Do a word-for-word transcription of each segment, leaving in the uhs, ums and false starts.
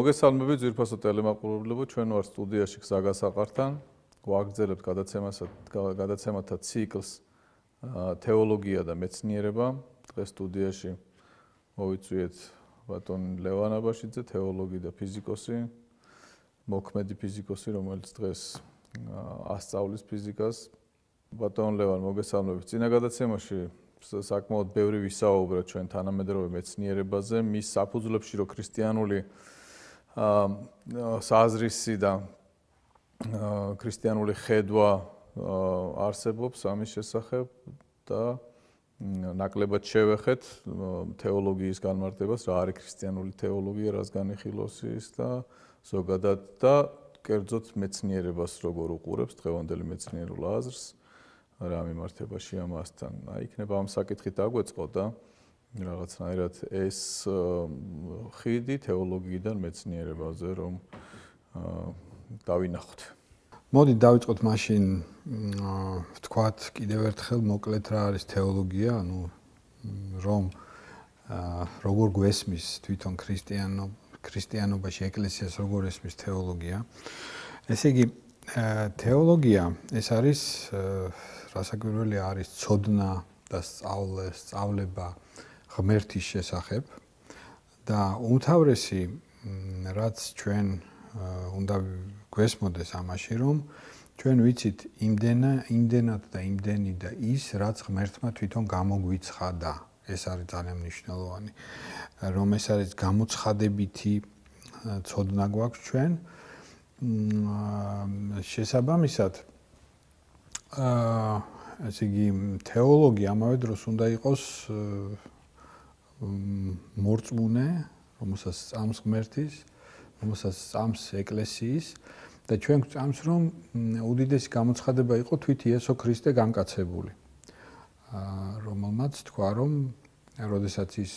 მოგესალმებით ძვირფასო ტელემაყურებლებო, ჩვენ ვართ სტუდიაში გზაგასაყართან. გვაგრძელებთ გადაცემათა ციკლს თეოლოგია და მეცნიერება. დღეს სტუდიაში მოვიწვიეთ ბატონი ლევან აბაშიძე, თეოლოგი და ფიზიკოსი, მოქმედი ფიზიკოსი, რომელიც დღეს ასწავლის ფიზიკას. ბატონ ლევან, მოგესალმებით. წინა გადაცემაში საკმაოდ ბევრი ვისაუბრა ჩვენ თანამედროვე მეცნიერებაზე, მის საფუძვლებში რო ქრისტიანული საზრისი და ქრისტიანული ხედვა არსებობს ამის შესახებ და ნაკლებად შევეხეთ თეოლოგიის განმარტებას, რა არის ქრისტიანული თეოლოგია, რას განიხილავს ის და ზოგადად და კერძოდ მეცნიერებას როგორ უყურებს დღევანდელი მეცნიერულ აზრს, რა მიმართებაში ამასთან. აი, იქნება ამ საკითხით დაგვეწყო და რაღაცნაირად ეს ხიდი თეოლოგიიდან მეცნიერებაზე რომ დავინახოთ. მოდი დავიწყოთ მაშინ ვთქვათ კიდევ ერთხელ მოკლედ რა არის თეოლოგია, ანუ რომ როგორ გვესმის თვითონ ქრისტიანო ქრისტიანობაში ეკლესიას როგორ ესმის თეოლოგია. ესე იგი თეოლოგია ეს არის რასაკვირველია არის ცოდნა და სწავლე, სწავლება ღმერთის შესახებ და უმთავრესი რაც ჩვენ უნდა გვესმოდეს ამაში რომ ჩვენ ვიცით იმდენა იმდენად და იმდენი და ის რაც ღმერთმა თვითონ გამოგვიცხადა. ეს არის ძალიან მნიშვნელოვანი რომ ეს არის გამოცხადებითი ცოდნა გვაქვს ჩვენ შესაბამისად აა ესე იგი თეოლოგია ამავე დროს უნდა იყოს მორწმუნე, რომელსაც სწამს ღმერთის, რომელსაც სწამს ეკლესიის და ჩვენ გვწამს რომ უდიდესი გამოცხადება იყო თვით იესო ქრისტე განკაცებული. რომელმაც თქვა რომ როდესაც ის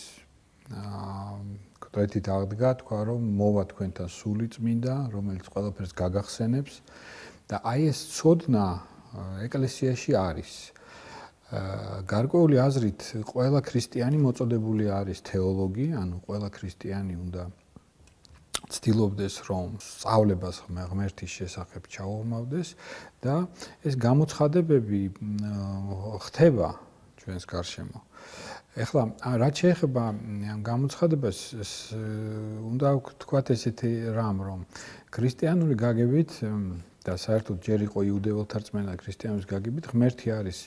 კვეთით აღდგა, თქვა რომ მოვა თქვენთან სული წმინდა, რომელიც ყველაფერს გაგახსენებს და აი ეს ცოდნა ეკლესიაში არის. გარკვეული აზრით ყველა ქრისტიანი მოწოდებული არის თეოლოგი, ანუ ყველა ქრისტიანი უნდა ცდილობდეს რომ სწავლებას ღმერთის შესახებ ჩაუღმავდეს და ეს გამოცხადებები ხდება ჩვენს გარშემო. ეხლა რაც შეეხება ამ გამოცხადებას უნდა ვთქვათ ესეთი რამ რომ ქრისტიანული გაგებით და საერთოდ ჯერ იყო იუდეველთა რწმენა ქრისტიანობის გაგებით ღმერთი არის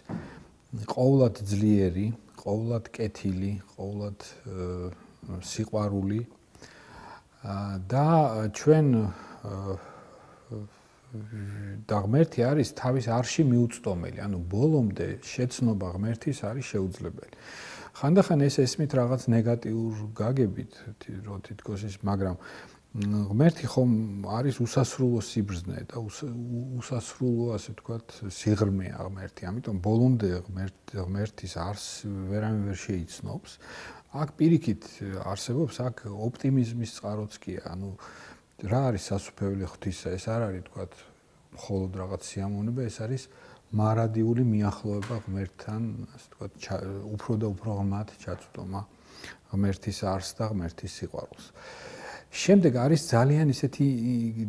ყოვლად ძლიერი, ყოვლად კეთილი, ყოვლად სიყვარული და ჩვენ და ღმერთი არის თავის არში მიუწვდომელი, ანუ ბოლომდე შეცნობა ღმერთის არის შეუძლებელი. ხანდახან ეს ესმით რაღაც ნეგატიურ გაგებით, რო თითქოს ის, მაგრამ ღმერთი ხომ არის უსასრულო სიბრძნე და უსასრულო, ასე ვთქვათ, სიღრმეა ღმერთი. ამიტომ ბოლომდე ღმერთის არს ვერავინ ვერ შეიცნობს. აქ პირიქით არსებობს აქ ოპტიმიზმის წყაროც კი, ანუ რა არის სასუფეველი ღვთისა, ეს არ არის ვთქვათ მხოლოდ რაღაც სიამოვნება, ეს არის მარადიული მიახლოება ღმერთთან, ასე ვთქვათ, უფრო და უფრო ღმად ჩაწვდომა ღმერთის არს და ღმერთის სიყვარულს. შემდეგ არის ძალიან ისეთი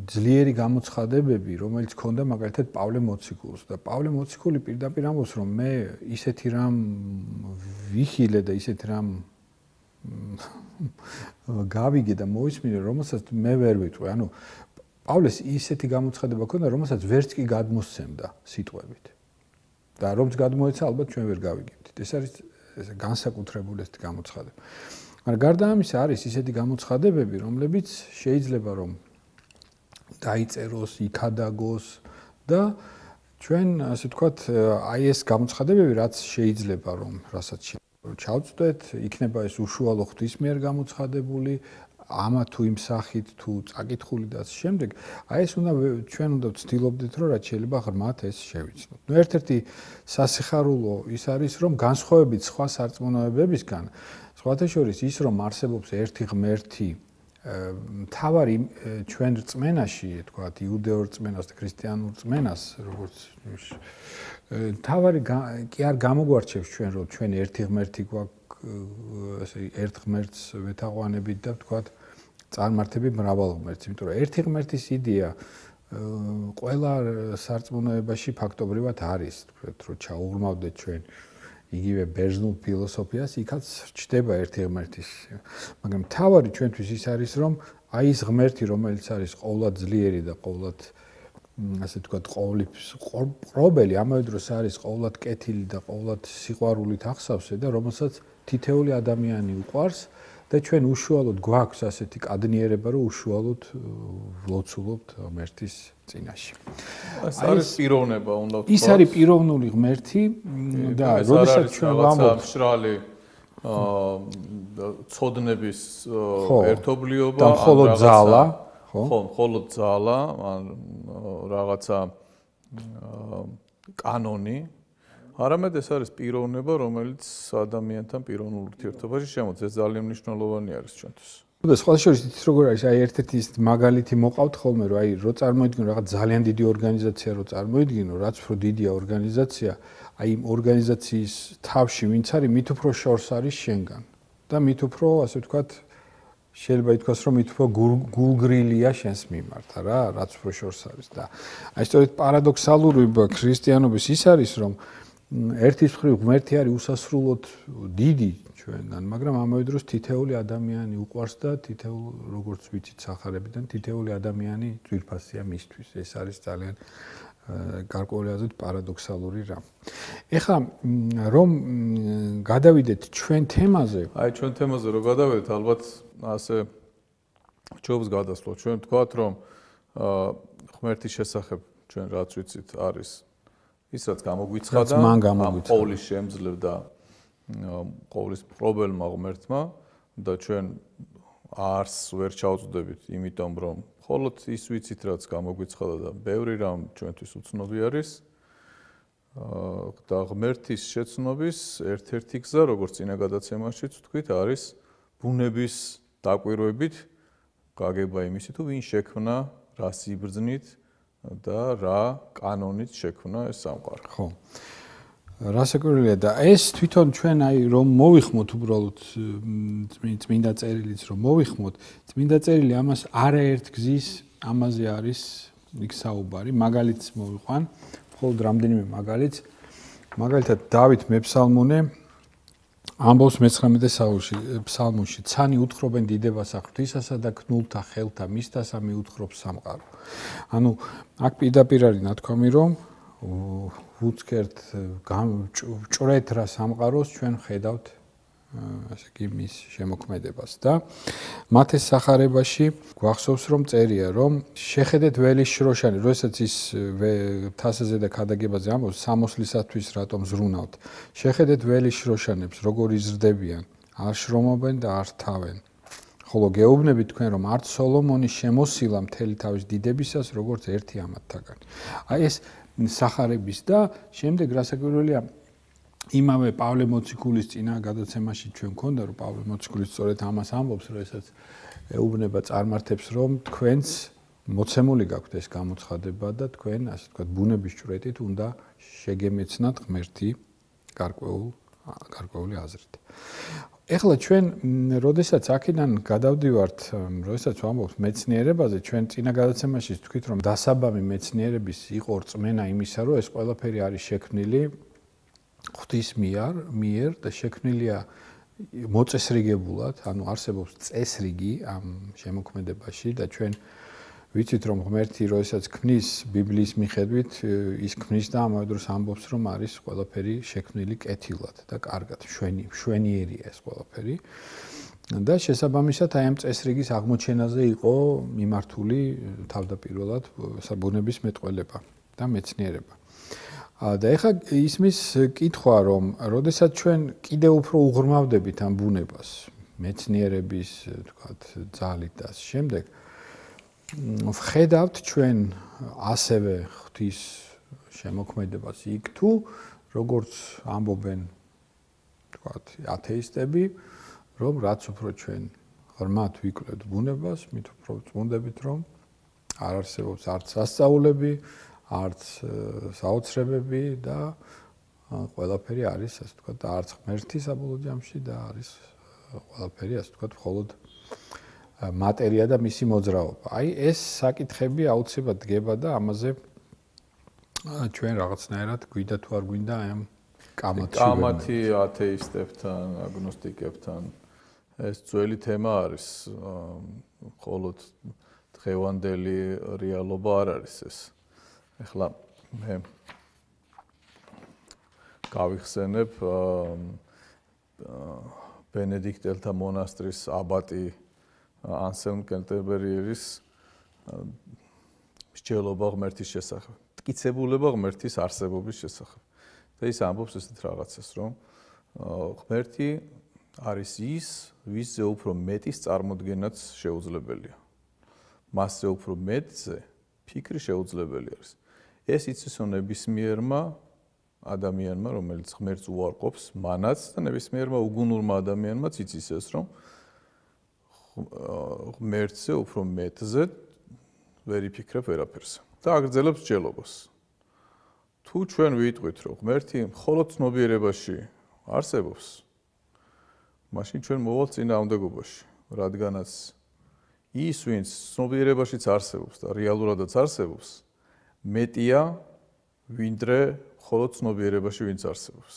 ძლიერი გამოცხადებები, რომელიც ჰქონდა მაგალითად პავლე მოციქულს და პავლე მოციქული პირდაპირ ამბობს, რომ მე ისეთი რამ ვიხილე და ისეთი რამ გავიგე და მოვისმინე, რომელსაც მე ვერ ვიტყვი. ანუ პავლეს ისეთი გამოცხადება ჰქონდა, რომელსაც ვერც კი გადმოსცემდა სიტყვებით. და რომც გადმოეცა, ალბათ ჩვენ ვერ გავიგებთ. ეს არის განსაკუთრებული ესეთი გამოცხადება. მაგრამ გარდა ამისა არის ისეთი გამოცხადებები, რომლებიც შეიძლება რომ დაიწეროს, იქადაგოს და ჩვენ ასე ვთქვათ, აი ეს გამოცხადებები რაც შეიძლება რომ რასაც ჩავწვდეთ, იქნება ეს უშუალო ღვთის მიერ გამოცხადებული, ამა თუ იმ სახით თუ წაკითხული და ასე შემდეგ, აი ეს უნდა ჩვენ უნდა ვცდილობდეთ რომ რაც შეიძლება ღრმად ეს შევიცნოთ. ნუ ერთ-ერთი სასიხარულო ის არის რომ განსხვავებით სხვა სარწმუნოებებისგან სხვათა შორის ის რომ არსებობს ერთი ღმერთი მთავარი ჩვენ რწმენაში, თქვათ, იუდეურ რწმენას და ქრისტიანულ რწმენას, როგორც მთავარი კი არ გამოგვარჩევს ჩვენ რომ ჩვენ ერთი ღმერთი გვაქვს, ესე ერთ ღმერთს ვეთაყვანებით და თქვათ წარმართები მრავალ ღმერთს, იმიტომ რომ ერთი ღმერთის იდეა ყველა სარწმუნოებაში ფაქტობრივად არის, თქვით, რომ ჩაუღრმავდეთ ჩვენ იგივე ბერძნულ ფილოსოფიას, იქაც ჩდება ერთი ღმერთის. მაგრამ თავარი ჩვენთვის ის არის, რომ აი ეს ღმერთი, რომელიც არის ყოვლად ძლიერი და ყოვლად ასე ვთქვათ, ყოვლის ყრობელი, ამავე დროს არის ყოვლად კეთილი და ყოვლად სიყვარულით ახსავსე და რომელსაც თითეული ადამიანი უყვარს და ჩვენ უშუალოდ გვაქვს ასეთი კადნიერება, რომ უშუალოდ ვლოცულობთ ღმერთის წინაშე. ეს არის პიროვნება, უნდა ვთქვათ. ის არის პიროვნული ღმერთი და როდესაც ჩვენ ვამბობთ მშრალი აა ცოდნების ერთობლიობა და მხოლოდ ძალა, ხო? ხო, მხოლოდ ძალა, ან რაღაცა კანონი, არამედ ეს არის პიროვნება, რომელიც ადამიანთან პიროვნულ ურთიერთობაში შემოდის. ეს ძალიან მნიშვნელოვანი არის ჩვენთვის. და სხვა შორის იცით როგორ არის, აი ერთ-ერთი ის მაგალითი მოყავთ ხოლმე, რომ აი რო წარმოიდგინო რაღაც ძალიან დიდი ორგანიზაცია რო წარმოიდგინო, რაც უფრო დიდია ორგანიზაცია, აი იმ ორგანიზაციის თავში ვინც არის, მით უფრო შორს არის შენგან. და მით უფრო, ასე ვთქვათ, შეიძლება ითქვას, რომ მით უფრო გულგრილია შენს მიმართ, რა, რაც უფრო შორს არის და აი სწორედ პარადოქსალური ქრისტიანობის ის არის, რომ ერთის მხრივ ღმერთი არის უსასრულოდ დიდი ჩვენგან, მაგრამ ამავე დროს თითეული ადამიანი უყვარს და თითეულ როგორც ვიცით სახარებიდან თითეული ადამიანი ძვირფასია მისთვის. ეს არის ძალიან გარკვეული აზრით პარადოქსალური რამ. ეხლა რომ გადავიდეთ ჩვენ თემაზე, აი ჩვენ თემაზე რომ გადავიდეთ, ალბათ ასე ჯობს გადასვლოთ. ჩვენ ვთქვათ, რომ ღმერთის შესახებ ჩვენ რაც ვიცით არის ის რაც გამოგვიცხადა, ამ ყოვლის შემძლევ და ყოვლის პრობლემა ღმერთმა და ჩვენ არს ვერ ჩავწვდებით, იმიტომ რომ მხოლოდ ის ვიცით რაც გამოგვიცხადა და ბევრი რამ ჩვენთვის უცნობი არის. და ღმერთის შეცნობის ერთ-ერთი გზა, როგორც წინა გადაცემაშიც ვთქვით, არის ბუნების დაკვირვებით გაგება იმისი თუ ვინ შექმნა, რა სიბრძნით და რა კანონით შექმნა ეს სამყარო. ხო. რასაკვირველია და ეს თვითონ ჩვენ აი რომ მოვიხმოთ უბრალოდ წმინდა წერილიც რომ მოვიხმოთ, წმინდა წერილი ამას არაერთ გზის ამაზე არის იქ საუბარი, მაგალითს მოვიყვან, მხოლოდ რამდენიმე მაგალითს. მაგალითად დავით მეფსალმონე ამბობს მეცხრამეტე ფსალმუნში, ცანი უთხრობენ დიდებას ღვთისასა და ქნულთა ხელთა მისთასა მიუთხრობს სამყარო. ანუ აქ პირდაპირ არის ნათქვამი, რომ უცქერთ ჭრეთ რა სამყაროს ჩვენ ხედავთ ასე იგი მის შემოქმედებას და მათეს სახარებაში გვახსოვს რომ წერია რომ შეხედეთ ველის შროშანი, როდესაც ის თასაზე და ქადაგებაზე ამბობს სამოსლისათვის რატომ ზრუნავთ. შეხედეთ ველის შროშანებს როგორ იზრდებიან, არ შრომობენ და არ თავენ. ხოლო გეუბნებით თქვენ რომ არც სოლომონის შემოსილა მთელი თავის დიდებისას როგორც ერთი ამათთაგანი. აი ეს სახარების და შემდეგ რასაკვირველია იმავე პავლე მოციქულის წინა გადაცემაში ჩვენ გქონდა რომ პავლე მოციქული სწორედ ამას ამბობს, როდესაც ეუბნება წარმართებს რომ თქვენც მოცემული გაქვთ ეს გამოცხადება და თქვენ ასე ვთქვათ ბუნების ჭვრეტით უნდა შეგემეცნათ ღმერთი გარკვეულ გარკვეული აზრით. ეხლა ჩვენ როდესაც აქედან გადავდივართ, როდესაც ვამბობთ მეცნიერებაზე, ჩვენ წინა გადაცემაში ვთქვით რომ დასაბამი მეცნიერების იყო რწმენა იმისა რომ ეს ყველაფერი არის შექმნილი ღვთის მიერ, მიერ და შექმნილია მოწესრიგებულად, ანუ არსებობს წესრიგი ამ შემოქმედებაში და ჩვენ ვიცით რომ ღმერთი როდესაც ქმნის ბიბლიის მიხედვით ის ქმნის და ამავე დროს ამბობს რომ არის ყველაფერი შექმნილი კეთილად და კარგად, შვენი, შვენიერია ეს ყველაფერი. და შესაბამისად აი ამ წესრიგის აღმოჩენაზე იყო მიმართული თავდაპირველად საბუნების მეტყველება და მეცნიერება. და ეხლა ისმის კითხვა რომ როდესაც ჩვენ კიდევ უფრო უღრმავდებით ამ ბუნებას, მეცნიერების, თქვათ, ძალით და ამ შემდეგ ვხედავთ ჩვენ ასევე ღვთის შემოქმედებას იქ თუ როგორც ამბობენ თქვათ ათეისტები, რომ რაც უფრო ჩვენ ღრმად ვიკვლევთ ბუნებას, მით უფრო წმუნდებით რომ არ არსებობს არც სასწაულები, არც საოცრებები და ყველაფერი არის, ასე ვთქვათ, არც ღმერთი საბოლოო ჯამში და არის ყველაფერი, ასე ვთქვათ, მხოლოდ მატერია და მისი მოძრაობა. აი ეს საკითხები აუცილებლად დგება და ამაზე ჩვენ რაღაცნაირად გვიდა თუ არ გვინდა აი ამ კამათში კამათი ათეისტებთან, აგნოსტიკებთან ეს ძველი თემა არის, მხოლოდ დღევანდელი რეალობა არ არის ეს. ეხლა მე გავიხსენებ ბენედიქტელთა მონასტრის აბატი ანსელმ კენტერბერიერის მსჯელობა ღმერთის შესახებ, მტკიცებულება ღმერთის არსებობის შესახებ. და ის ამბობს ესეთ რაღაცას, რომ ღმერთი არის ის, ვისზე უფრო მეტის წარმოდგენაც შეუძლებელია. მასზე უფრო მეტზე ფიქრი შეუძლებელი არის. ეს იცის ნებისმიერმა ადამიანმა, რომელიც ღმერთს უარყოფს, მანაც და ნებისმიერმა უგუნურმა ადამიანმაც იცის ეს, რომ ღმერთზე უფრო მეტზე ვერ იფიქრებ ვერაფერს. და აგრძელებს მსჯელობას. თუ ჩვენ ვიტყვით, რომ ღმერთი მხოლოდ ცნობიერებაში არსებობს, მაშინ ჩვენ მოვალთ წინააღმდეგობაში, რადგანაც ის, ვინც ცნობიერებაშიც არსებობს და რეალურადაც არსებობს, მეტია ვინდრე მხოლოდ ცნობიერებაში ვინც არსებობს.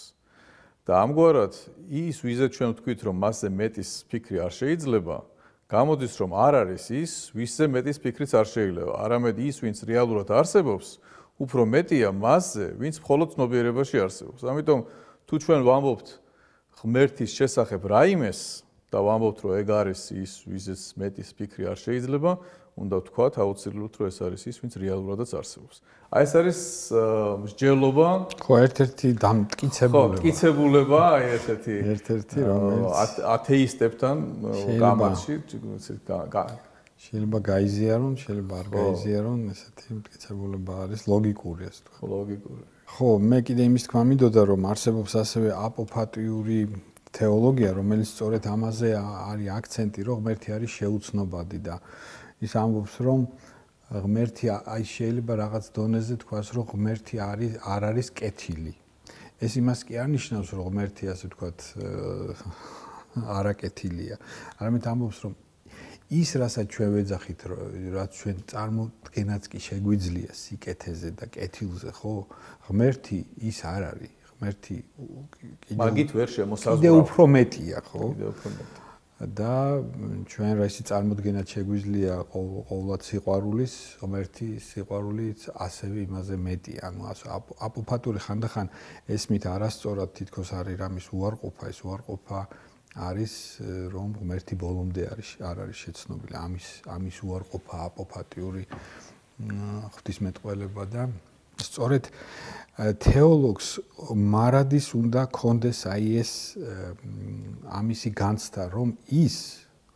და ამგვარად ის, ვიზე ჩვენ ვთქვით, რომ მასზე მეტის ფიქრი არ შეიძლება, გამოდის, რომ არ არის ის, ვისზე მეტის ფიქრიც არ შეიძლება. არამედ ის, ვინც რეალურად არსებობს, უფრო მეტია მასზე, ვინც მხოლოდ ცნობიერებაში არსებობს. ამიტომ თუ ჩვენ ვამბობთ ღმერთის შესახებ რაიმეს და ვამბობთ, რომ ეგ არის ის, ვიზეც მეტის ფიქრი არ შეიძლება, უნდა ვთქვათ აუცილებლად, რომ ეს არის ის, ვინც რეალურადაც არსებობს. აი ეს არის მსჯელობა, ხო, ერთ-ერთი დამტკიცებულება. ხო, მტკიცებულება, აი ერთ-ერთი ერთ-ერთი რომელიც ათეისტებთან კამათში შეიძლება გაიზიარონ, შეიძლება არ გაიზიარონ, ესეთი მტკიცებულება არის ლოგიკური, ასე თქვა. ლოგიკური. ხო, მე კიდე იმის თქმა მინდოდა, რომ არსებობს ასევე აპოფატიური თეოლოგია, რომელიც სწორედ ამაზე არის აქცენტი, რომ ღმერთი არის შეუცნობადი და ის ამბობს, რომ ღმერთი აი შეიძლება რაღაც დონეზე თქვას, რომ ღმერთი არის არ არის კეთილი. ეს იმას კი არ ნიშნავს, რომ ღმერთი ასე თქვათ არაკეთილია. არამედ ამბობს, რომ ის, რასაც ჩვენ ვეძახით, რაც ჩვენ წარმოდგენაც კი შეგვიძლია სიკეთეზე და კეთილზე, ხო? ღმერთი ის არ არის. ღმერთი მაგით ვერ შემოსაზღვრავს. კიდე უფრო მეტია, ხო? კიდე უფრო მეტია. და ჩვენ რა ისი წარმოდგენაც შეგვიძლია ყოვლად სიყვარულის, ღმერთი სიყვარულიც ასევე იმაზე მეტია. ანუ აპოფატური ხანდახან ესმით არასწორად თითქოს არის რამის უარყოფა, ეს უარყოფა არის რომ ღმერთი ბოლომდე არის არ არის შეცნობილი. ამის ამის უარყოფა აპოფატიური ღვთისმეტყველება და სწორედ თეოლოგს მარადის უნდა კონდეს აი ეს ამისი განცდა, რომ ის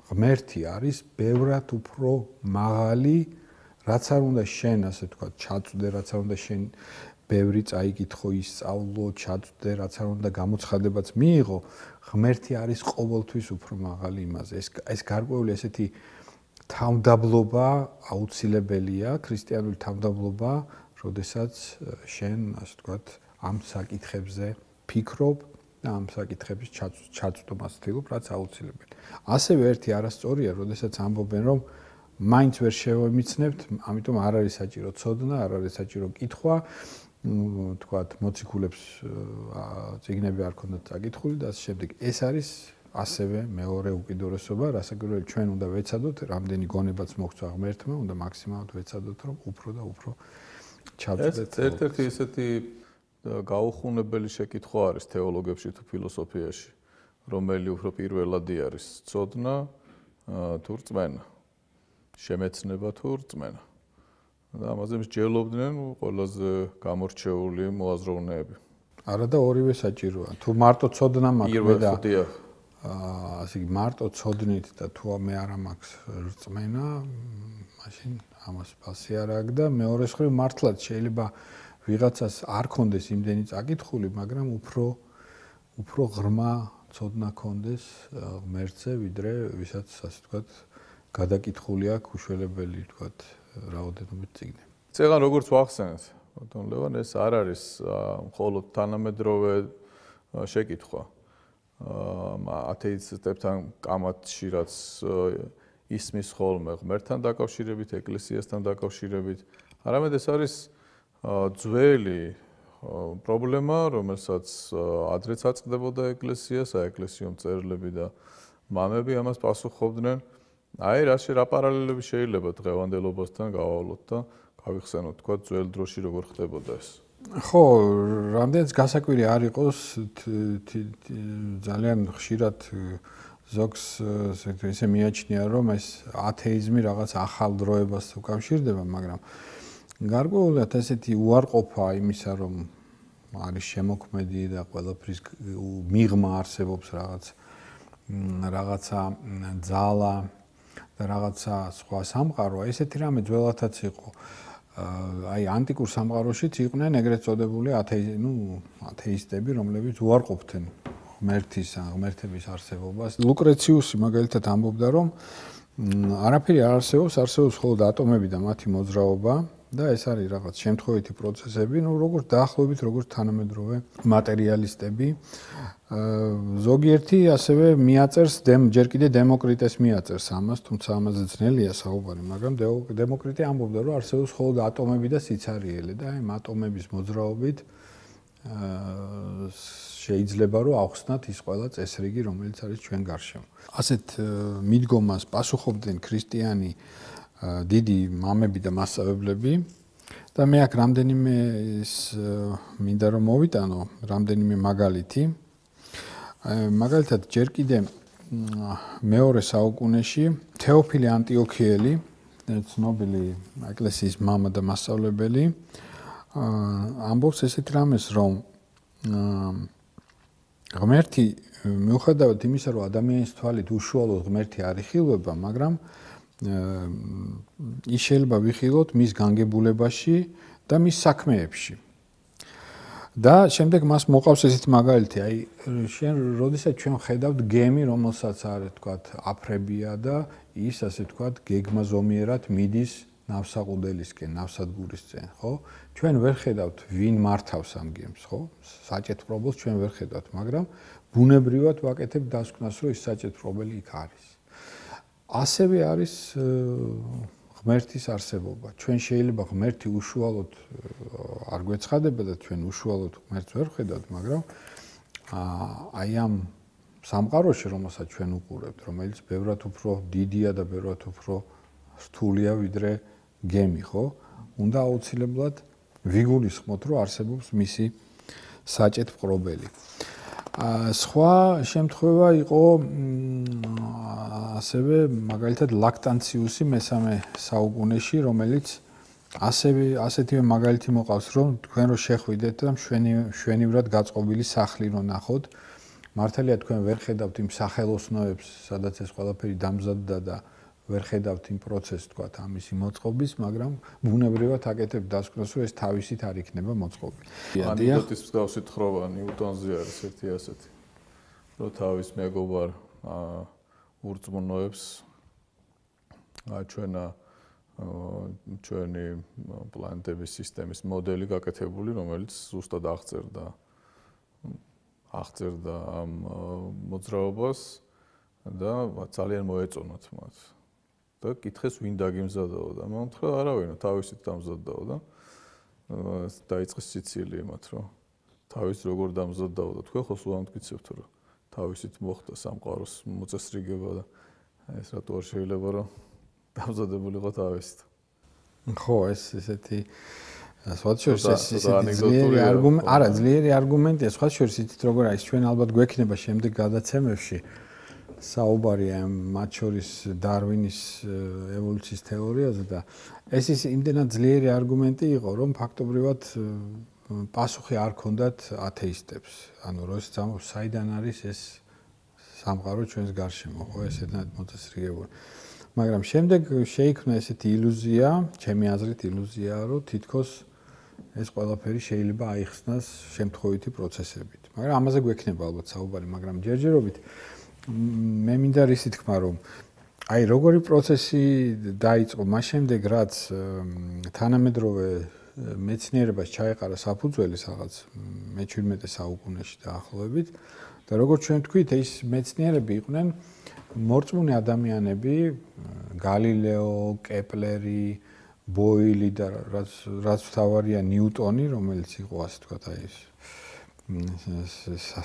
ღმერთი არის ბევრად უფრო მაღალი, რაც არ უნდა შენ, ასე ვთქვათ, ჩაწვდე, რაც არ უნდა შენ ბევრი წაიკითხო, ისწავლო, ჩაწვდე, რაც არ უნდა გამოცხადებაც მიიღო, ღმერთი არის ყოველთვის უფრო მაღალი იმაზე. ეს ეს გარკვეული ესეთი თავმდაბლობა აუცილებელია, ქრისტიანული თავმდაბლობა, როდესაც შენ, ასე ვთქვათ, ამ საკითხებზე ფიქრობ და ამ საკითხების ჩაწვდომას ვთილობ, რაც აუცილებელი. ასევე ერთი არასწორია, როდესაც ამბობენ, რომ მაინც ვერ შევემიცნებთ, ამიტომ არ არის საჭირო ცოდნა, არ არის საჭირო კითხვა, ვთქვათ, მოციქულებს წიგნები არ ქონდათ წაკითხული და ასე შემდეგ. ეს არის ასევე მეორე უკიდურესობა, რასაკვირველი ჩვენ უნდა ვეცადოთ, რამდენი გონებაც მოგვცა ღმერთმა, უნდა მაქსიმალურად ვეცადოთ, რომ უფრო და უფრო ჩავწვდეთ. ერთ-ერთი ესეთი გაუხუნებელი შეკითხვა არის თეოლოგებში თუ ფილოსოფიაში, რომელი უფრო პირველადი არის, ცოდნა თუ რწმენა, შემეცნება თუ რწმენა. და ამაზე მსჯელობდნენ ყველაზე გამორჩეული მოაზროვნეები. არა და ორივე საჭიროა. თუ მარტო ცოდნა მაქვს და აა ასე მარტო ცოდნით და თუ მე არ მაქვს რწმენა, მაშინ ამას ფასი არ აქვს და მეორე მხრივ მართლაც შეიძლება ვიღაცას არ კონდეს იმდენი წაკითხული, მაგრამ უფრო უფრო ღრმა ცოდნა კონდეს ღმერთზე, ვიდრე ვისაც ასე ვთქვათ, გადაკითხული აქვს უშველებელი, ვთქვათ, რაოდენობით წიგნები. წეგან როგორც ვახსენეთ, ბატონ ლევან, ეს არ არის მხოლოდ თანამედროვე შეკითხვა. ათეისტებთან კამათში რაც ისმის ხოლმე ღმერთთან დაკავშირებით, ეკლესიასთან დაკავშირებით. არამედ ეს არის ძველი პრობლემა, რომელსაც ადრეც აწყდებოდა ეკლესია, საეკლესიო მწერლები და მამები ამას პასუხობდნენ. აი რა შეიძლება პარალელები შეიძლება დღევანდელობასთან გავავლოთ და გავიხსენოთ თქვა ძველ დროში როგორ ხდებოდა ეს. ხო, რამდენიც გასაკვირი არ იყოს, ძალიან ხშირად ზოგს ესე მიაჩნია, რომ ეს ათეიზმი რაღაც ახალ დროებას უკავშირდება, მაგრამ გარკვეულად ესეთი უარყოფა იმისა, რომ არის შემოქმედი და ყველაფრის მიღმა არსებობს რაღაც რაღაცა ძალა და რაღაცა სხვა სამყარო, ესეთი რამე ძველათაც იყო. აი ანტიკურ სამყაროშიც იყვნენ ეგრეთ წოდებული ათეი, ნუ ათეისტები, რომლებიც უარყოფდნენ ღმერთის ან ღმერთების არსებობას. ლუკრეციუსი მაგალითად ამბობდა, რომ არაფერი არ არსებობს, არსებობს მხოლოდ ატომები და მათი მოძრაობა და ეს არის რაღაც შემთხვევითი პროცესები, ნუ როგორც დაახლოებით როგორც თანამედროვე მატერიალისტები. ზოგიერთი ასევე მიაწერს ჯერ კიდე დემოკრიტეს მიაწერს ამას, თუმცა ამაზე ძნელია საუბარი, მაგრამ დემოკრიტე ამბობდა, რომ არსებობს მხოლოდ ატომები და სიცარიელი და აი ატომების მოძრაობით შეიძლება რომ ავხსნათ ის ყველა წესრიგი, რომელიც არის ჩვენ გარშემო. ასეთ მიდგომას პასუხობდნენ ქრისტიანი დიდი მამები და მასწავლებლები და მე აქ რამდენიმე ის მინდა რომ მოვიტანო, რამდენიმე მაგალითი. მაგალითად ჯერ კიდე მეორე საუკუნეში თეოფილე ანტიოქიელი, ცნობილი ეკლესიის მამა და მასწავლებელი, ამბობს ესეთ რამეს, რომ ღმერთი მიუხედავად იმისა, რომ ადამიანის თვალით უშუალოდ ღმერთი არ იხილვება, მაგრამ ის შეიძლება ვიხილოთ მის განგებულებაში და მის საქმეებში. და შემდეგ მას მოყავს ესეთი მაგალითი, აი შენ როდესაც ჩვენ ხედავთ გემი, რომელსაც არის თქვათ აფრებია და ის ასე თქვათ გეგმაზომიერად მიდის ნავსაყუდელისკენ, ნავსადგურისკენ, ხო? ჩვენ ვერ ხედავთ ვინ მართავს ამ გემს, ხო? საჭეთპრობელს ჩვენ ვერ ხედავთ, მაგრამ ბუნებრივად ვაკეთებ დასკვნას, რომ ის საჭეთპრობელი იქ არის. ასევე არის ღმერთის არსებობა. ჩვენ შეიძლება ღმერთი უშუალოდ არ გვეცხადება და ჩვენ უშუალოდ ღმერთს ვერ ხედავთ, მაგრამ აი ამ სამყაროში, რომელსაც ჩვენ უყურებთ, რომელიც ბევრად უფრო დიდია და ბევრად უფრო რთულია ვიდრე გემი, ხო? უნდა აუცილებლად ვიგულისხმოთ, რომ არსებობს მისი საჭეთპრობელი. სხვა შემთხვევა იყო ასევე მაგალითად ლაქტანციუსი მესამე საუკუნეში, რომელიც ასევე ასეთივე მაგალითი მოყავს, რომ თქვენ რო შეხვიდეთ და მშვენივრად გაწყობილი სახლი რო ნახოთ, მართალია თქვენ ვერ ხედავთ იმ სახელოსნოებს, სადაც ეს ყველაფერი დამზადდა და ვერ ხედავთ იმ პროცესს, თქვათ, ამისი მოწყობის, მაგრამ ბუნებრივად აკეთებ დასკვნას, რომ ეს თავისით არ იქნება მოწყობილი. ანიდოტის მსგავსი თხრობა ნიუტონზე არის ერთი ასეთი, რომ თავის მეგობარ ურწმუნოებს აჩვენა ჩვენი პლანეტების სისტემის მოდელი გაკეთებული, რომელიც ზუსტად აღწერდა აღწერდა ამ მოძრაობას და ძალიან მოეწონათ მათ. და კითხეს ვინ დაგიმზადაო და მან თქვა არავინო თავისით დამზადაო და დაიწყეს სიცილი მათ რომ თავის როგორ დამზადაო და თქვენ ხო სულ ამტკიცებთ რომ თავისით მოხდა სამყაროს მოწესრიგება და ეს რატო არ შეიძლება რომ დამზადებულიყო თავისით. ხო, ეს ესეთი სხვა შორის ეს ძლიერი არგუმენტი, არა ძლიერი არგუმენტია, სხვა შორის იცით როგორ არის ჩვენ ალბათ გვექნება შემდეგ გადაცემებში საუბარი ამ მათ შორის დარვინის ევოლუციის თეორიაზე და ეს ის იმდენად ძლიერი არგუმენტი იყო, რომ ფაქტობრივად პასუხი არ ჰქონდათ ათეისტებს. ანუ როდესაც ამბობს, საიდან არის ეს სამყარო ჩვენს გარშემო, ხო, ესეთად მოწესრიგებული. მაგრამ შემდეგ შეიქმნა ესეთი ილუზია, ჩემი აზრით ილუზია, რომ თითქოს ეს ყველაფერი შეიძლება აიხსნას შემთხვევითი პროცესებით. მაგრამ ამაზე გვექნება ალბათ საუბარი, მაგრამ ჯერჯერობით მე მინდა რისი თქმა, რომ აი როგორი პროცესი დაიწყო მას შემდეგ, რაც თანამედროვე მეცნიერებას ჩაეყარა საფუძველი რაღაც მეჩვიდმეტე საუკუნეში დაახლოებით და როგორც ჩვენ თქვით, ეს მეცნიერები იყვნენ მორწმუნე ადამიანები, გალილეო, კეპლერი, ბოილი და რაც რაც თავარია ნიუტონი, რომელიც იყო ასე ვთქვათ, აი ეს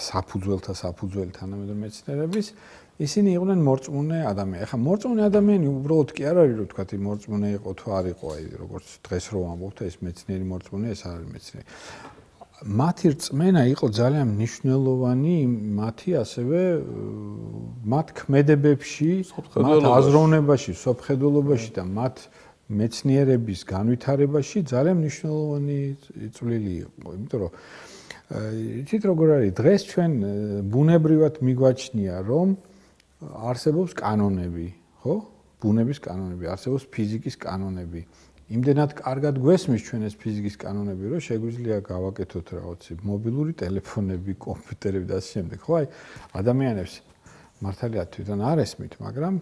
საფუძველთა საფუძველი თანამედროვე მეცნიერების, ისინი იყვნენ მორწმუნე ადამიანები. ახლა მორწმუნე ადამიანი უბრალოდ კი არ არის, რომ ვთქვათ, მორწმუნე იყო თუ არ იყო, აი როგორც დღეს რო ამბობთ, ეს მეცნიერი მორწმუნე, ეს არის მეცნიერი. მათი რწმენა იყო ძალიან მნიშვნელოვანი, მათი ასევე მათ ქმედებებში, მათ აზროვნებაში, სოფხედულობაში და მათ მეცნიერების განვითარებაში ძალიან მნიშვნელოვანი წვლილი იყო, იმიტომ რომ იცით როგორ არის, დღეს ჩვენ ბუნებრივად მიგვაჩნია, რომ არსებობს კანონები, ხო? ბუნების კანონები, არსებობს ფიზიკის კანონები. იმდენად კარგად გვესმის ჩვენ ეს ფიზიკის კანონები, რომ შეგვიძლია გავაკეთოთ რაღაცი მობილური ტელეფონები, კომპიუტერები და ასე შემდეგ. ხო, აი ადამიანებს მართალია თვითონ არ ესმით, მაგრამ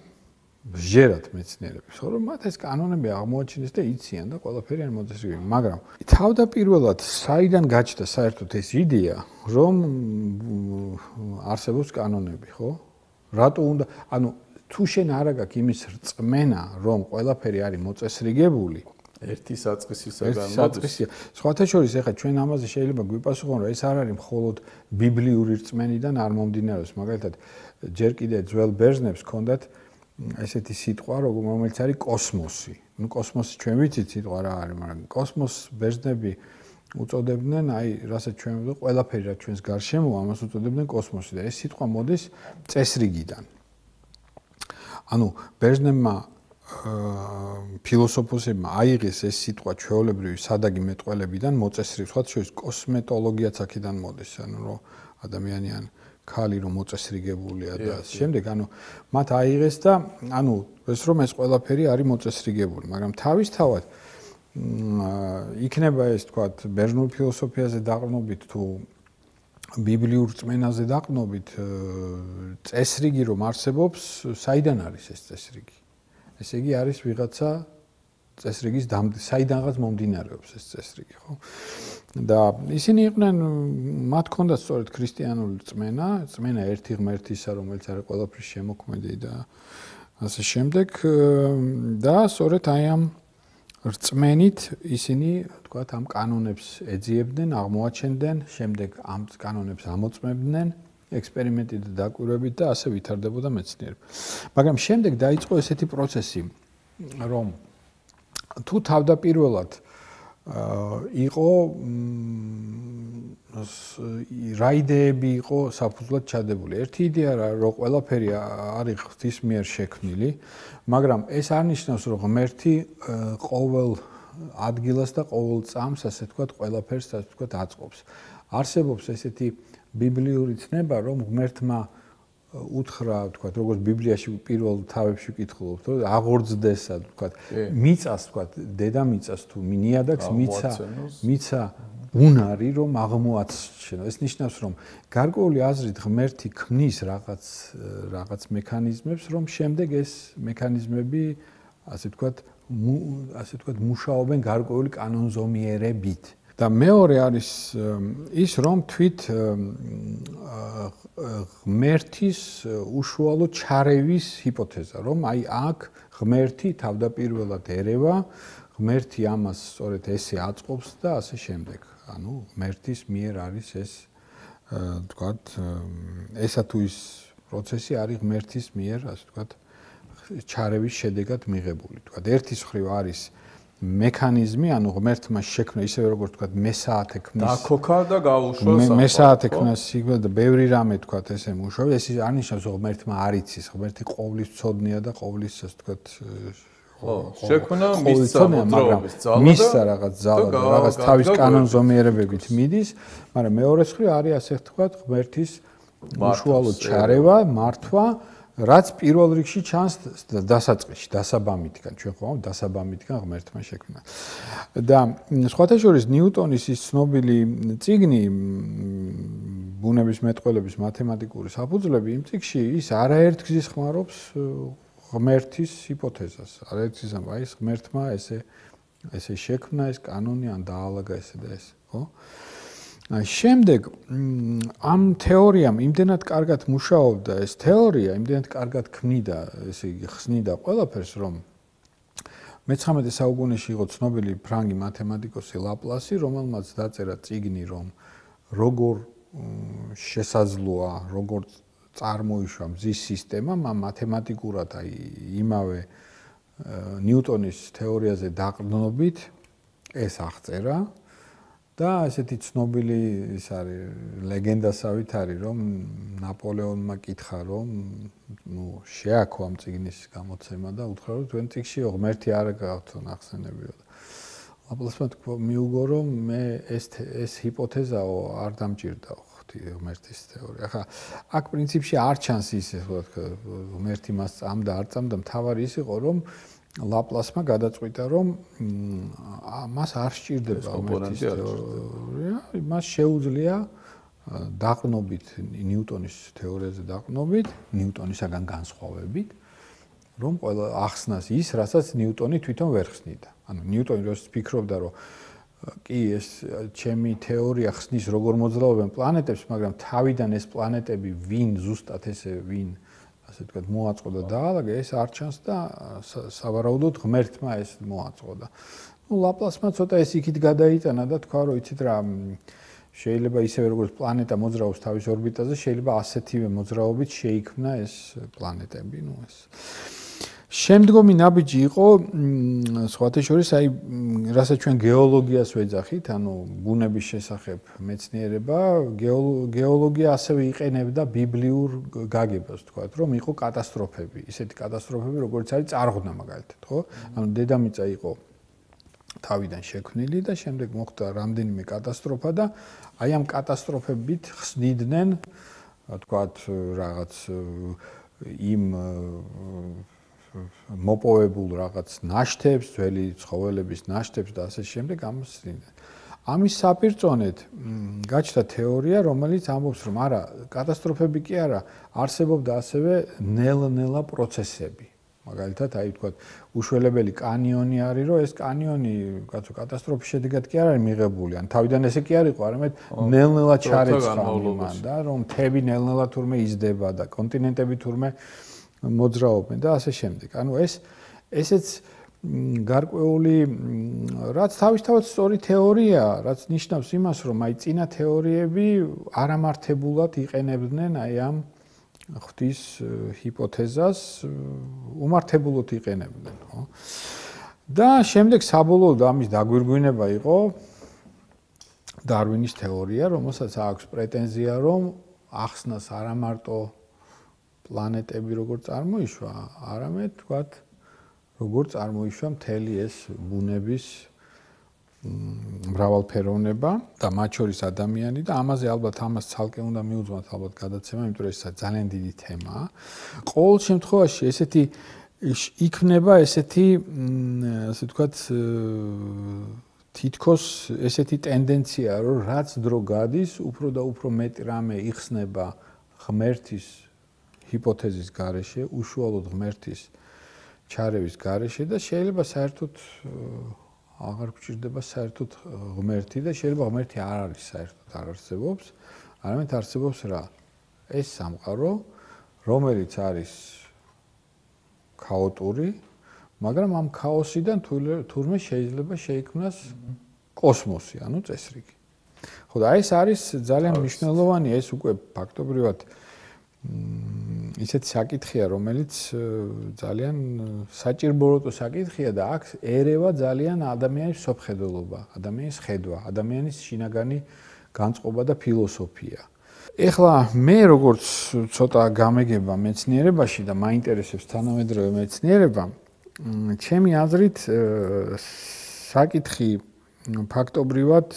ჟერათ მეცნიერებს, ხო, რომ მათ ეს კანონები აღმოაჩინეს და იციან და ყველაფერი არ მოწესრიგებია. მაგრამ თავდაპირველად საიდან გაჩნდა საერთოდ ეს იდეა, რომ არსებობს კანონები, ხო? რატო უნდა, ანუ თუ შენ არ აქვს იმის რწმენა, რომ ყველაფერი არის მოწესრიგებული, ერთი საწყისისაგან მოდის. სხვათა შორის, ეხლა ჩვენ ამაზე შეიძლება გვიპასუხონ, რომ ეს არ არის მხოლოდ ბიბლიური რწმენიდან არ მომდინარეობს. მაგალითად, ჯერ კიდე ძველ ბერძნებს ჰქონდათ ესეთი სიტყვა, რომელიც არის კოსმოსი. ნუ კოსმოსი ჩვენ ვიცით სიტყვა რა არის, მაგრამ კოსმოს ბერძნები უწოდებდნენ, აი, რასაც ჩვენ ვიტყვი, ყველაფერი რაც ჩვენს გარშემოა, ამას უწოდებდნენ კოსმოსი და ეს სიტყვა მოდის წესრიგიდან. ანუ ბერძნებმა ფილოსოფოსებმა აიღეს ეს სიტყვა ჩვეულებრივი სადაგი მეტყველებიდან მოწესრიგ, სხვა შორის კოსმეტოლოგიაც აქედან მოდის, ანუ რომ ადამიანი ან ქალი რომ მოწესრიგებულია და შემდეგ, ანუ მათ აიღეს და ანუ ეს რომ ეს ყველაფერი არის მოწესრიგებული, მაგრამ თავისთავად იქნება ეს თქვათ ბერძნულ ფილოსოფიაზე დაყრდნობით თუ ბიბლიურ რწმენაზე დაყრდნობით წესრიგი რომ არსებობს, საიდან არის ეს წესრიგი? ესე იგი არის ვიღაცა წესრიგის საიდანღაც მომდინარეობს ეს წესრიგი, ხო? და ისინი იყვნენ, მათ ჰქონდათ სწორედ ქრისტიანული რწმენა, რწმენა ერთი ღმერთისა, რომელიც არის ყველაფრის შემოქმედი და ასე შემდეგ და სწორედ აი ამ რწმენით ისინი, თქვათ, ამ კანონებს ეძიებდნენ, აღმოაჩენდნენ, შემდეგ ამ კანონებს ამოწმებდნენ ექსპერიმენტით და დაკვირვებით და ასე ვითარდებოდა მეცნიერება. მაგრამ შემდეგ დაიწყო ესეთი პროცესი, რომ თუ თავდაპირველად იყო რა იდეები იყო საფუძვლად ჩადებული. ერთი იდეა რა, რომ ყველაფერი არის ღვთის მიერ შექმნილი, მაგრამ ეს არ ნიშნავს, რომ ღმერთი ყოველ ადგილას და ყოველ წამს, ასე ვთქვათ, ყველაფერს, ასე ვთქვათ, აწყობს. არსებობს ესეთი ბიბლიური ცნება, რომ ღმერთმა უთხრა, ვთქვათ, როგორც ბიბლიაში პირველ თავებში ვკითხულობთ, რომ აღორძდესა, ვთქვათ, მიწას, ვთქვათ, დედამიწას თუ ნიადაგს მიცა, მიცა უნარი, რომ აღმოაჩენო. ეს ნიშნავს, რომ გარკვეული აზრით ღმერთი ქმნის რაღაც რაღაც მექანიზმებს, რომ შემდეგ ეს მექანიზმები, ასე ვთქვათ, ასე ვთქვათ, მუშაობენ გარკვეული კანონზომიერებით. და მეორე არის ის, რომ თვით ღმერთის უშუალო ჩარევის ჰიპოთეზა, რომ აი აქ ღმერთი თავდაპირველად ერევა, ღმერთი ამას სწორედ ესე აწყობს და ასე შემდეგ. ანუ ღმერთის მიერ არის ეს, ვთქვათ, ესა თუ ის პროცესი არის ღმერთის მიერ, ასე ვთქვათ, ჩარევის შედეგად მიღებული. ვთქვათ, ერთის მხრივ არის მექანიზმი, ანუ ღმერთმა შექმნა ისევე როგორც ვთქვათ, მესაათე ქმნის. დაქოქა და გაუშვა საფა. მესაათე ქმნის სიგნალ და ბევრი რამე ვთქვათ, ესე მუშაობს. ეს არ ნიშნავს, რომ ღმერთმა არ იცის, ღმერთი ყოვლის ცოდნია და ყოვლის, ასე ვთქვათ, ხო, შექმნა მისცა მოძრაობის ძალა და მისცა რაღაც ძალა და რაღაც თავის კანონზომიერებებით მიდის, მაგრამ მეორე მხრივ არის, ასე ვთქვათ, ღმერთის უშუალო ჩარევა, მართვა, რაც პირველ რიგში ჩანს დასაწყისში, დასაბამითგან, ჩვენ ხო დასაბამითგან ღმერთმა შექმნა. და სხვათა შორის ნიუტონის ის ცნობილი წიგნი ბუნების მეტყველების მათემატიკური საფუძვლები, იმ წიგნში ის არაერთგზის ხმარობს ღმერთის ჰიპოთეზას. არაერთგზის, აი ეს ღმერთმა ესე ესე შექმნა ეს კანონი ან დაალაგა ესე და ეს, ხო? შემდეგ ამ თეორიამ იმდენად კარგად მუშაობდა ეს თეორია, იმდენად კარგად ქმნიდა, ესე იგი ხსნიდა ყველაფერს, რომ მეცხრამეტე საუკუნეში იყო ცნობილი ფრანგი მათემატიკოსი ლაპლასი, რომელმაც დაწერა წიგნი, რომ როგორ შესაძლოა, როგორ წარმოიშვა მზის სისტემა, მათემატიკურად აი იმავე ნიუტონის თეორიაზე დაყრდნობით ეს აღწერა და ესეთი ცნობილი ის არის ლეგენდასავით არის, რომ ნაპოლეონმა კითხა, რომ ნუ შეაქო ამ წიგნის გამოცემა და უთხრა, რომ თქვენ წიგნში ღმერთი არ გაქვთ ნახსენებიო. ლაპლასმა მიუგო, რომ მე ეს ეს ჰიპოთეზაო არ დამჭირდაო ღმერთის თეორია. ახლა აქ პრინციპში არ ჩანს ისე, ხო თქვა, ღმერთი მას წამდა, არ წამდა, მთავარი ის იყო, რომ ლაპლასმა გადაწყვიტა, რომ მას არ სჭირდება ღმერთის თეორია, მას შეუძლია დაყრდნობით ნიუტონის თეორიაზე დაყრდნობით, ნიუტონისაგან განსხვავებით, რომ ყველა ახსნას ის, რასაც ნიუტონი თვითონ ვერ ხსნიდა. ანუ ნიუტონი როდის ფიქრობდა, რომ კი ეს ჩემი თეორია ხსნის როგორ მოძრაობენ პლანეტებს, მაგრამ თავიდან ეს პლანეტები ვინ ზუსტად ესე ვინ ასე ვთქვათ მოაწყო და დაალაგა, ეს არ ჩანს და სავარაუდოდ ღმერთმა ეს მოაწყო და ნუ ლაპლასმა ცოტა ეს იქით გადაიტანა და თქვა, რომ იცით რა, შეიძლება ისევე როგორც პლანეტა მოძრაობს თავის ორბიტაზე, შეიძლება ასეთივე მოძრაობით შეიქმნა ეს პლანეტები, ნუ ეს შემდგომი ნაბიჯი იყო სხვათა შორის აი რასაც ჩვენ გეოლოგიას ვეძახით, ანუ ბუნების შესახებ მეცნიერება, გეოლოგია ასევე იყენებდა ბიბლიურ გაგებას, თქვათ, რომ იყო კატასტროფები, ისეთი კატასტროფები, როგორც არის წარღვნა მაგალითად, ხო? ანუ დედამიწა იყო თავიდან შექმნილი და შემდეგ მოხდა რამდენიმე კატასტროფა და აი ამ კატასტროფებით ხსნიდნენ, თქვათ, რაღაც იმ მოპოვებულ რაღაც ნაშთებს, ძველი ცხოველების ნაშთებს და ასე შემდეგ ამასწრინდა. ამის საპირწონედ გაჩნდა თეორია, რომელიც ამბობს, რომ არა, კატასტროფები კი არა, არსებობდა ასევე ნელ-ნელა პროცესები. მაგალითად, აი ვთქვათ, უშველებელი კანიონი არის, რომ ეს კანიონი, კაცო, კატასტროფის შედეგად კი არ არის მიღებული, ან თავიდან ესე კი არ იყო, არამედ ნელ-ნელა ჩარეცხა მან და რომ მთები ნელ-ნელა თურმე იზრდება და კონტინენტები თურმე მოძრაობენ და ასე შემდეგ. ანუ ეს ესეც გარკვეული რაც თავისთავად სწორი თეორია, რაც ნიშნავს იმას, რომ აი წინა თეორიები არამართებულად იყენებდნენ აი ამ ღვთის ჰიპოთეზას, უმართებულად იყენებდნენ, ხო? და შემდეგ საბოლოოდ ამის დაგვირგვინება იყო დარვინის თეორია, რომელსაც აქვს პრეტენზია, რომ ახსნას არამარტო პლანეტები როგორ წარმოიშვა, არამედ თქვათ, როგორ წარმოიშვა მთელი ეს ბუნების მრავალფეროვნება და მათ შორის ადამიანი და ამაზე ალბათ ამას ცალკე უნდა მიუძღოთ ალბათ გადაცემა, იმიტომ რომ ეს ძალიან დიდი თემაა. ყოველ შემთხვევაში ესეთი იქნება ესეთი ასე ვთქვათ თითქოს ესეთი ტენდენცია, რომ რაც დრო გადის, უფრო და უფრო მეტი რამე იხსნება ღმერთის ჰიპოთეზის გარეშე, უშუალოდ ღმერთის ჩარევის გარეშე და შეიძლება საერთოდ აღარ გვჭირდება საერთოდ ღმერთი და შეიძლება ღმერთი არ არის საერთოდ არ არსებობს, არამედ არსებობს რა? ეს სამყარო, რომელიც არის ქაოტური, მაგრამ ამ ქაოსიდან თურმე შეიძლება შეიქმნას კოსმოსი, ანუ წესრიგი. ხო და ეს არის ძალიან მნიშვნელოვანი, ეს უკვე ფაქტობრივად ისეთი საკითხია, რომელიც ძალიან საჭიროებო საკითხია და აქ ერევა ძალიან ადამიანის სოფხედელობა, ადამიანის ხედვა, ადამიანის შინაგანი განწყობა და ფილოსოფია. ეხლა მე როგორც ცოტა გამეგება მეცნიერებაში და მაინტერესებს თანამედროვე მეცნიერება, ჩემი აზრით საკითხი ფაქტობრივად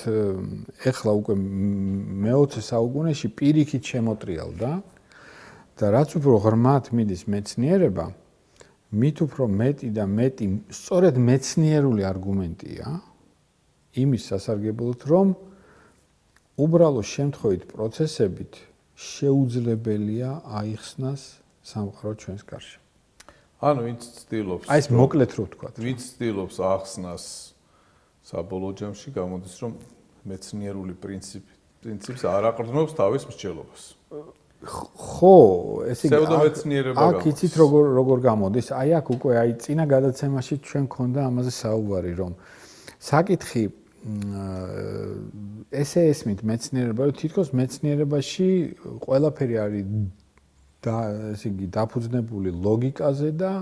ეხლა უკვე მეოცე საუკუნეში პირიქით შემოტრიალდა და რაც უფრო ღრმად მიდის მეცნიერება, მით უფრო მეტი და მეტი სწორედ მეცნიერული არგუმენტია იმის სასარგებლოდ, რომ უბრალო შემთხვევით პროცესებით შეუძლებელია აიხსნას სამყარო ჩვენს გარშემო. ანუ ვინც ცდილობს აი ეს მოკლედ რო ვთქვა. ვინც ცდილობს ახსნას საბოლოო ჯამში გამოდის, რომ მეცნიერული პრინციპი პრინციპს არ აყრდნობს თავის მსჯელობას. ხო, ესე იგი ფსევდომეცნიერება აქ იცით როგორ როგორ გამოდის? აი აქ უკვე აი წინა გადაცემაში ჩვენ გქონდა ამაზე საუბარი, რომ საკითხი ესე ესმით მეცნიერება, რომ თითქოს მეცნიერებაში ყველაფერი არის და ესე იგი დაფუძნებული ლოგიკაზე და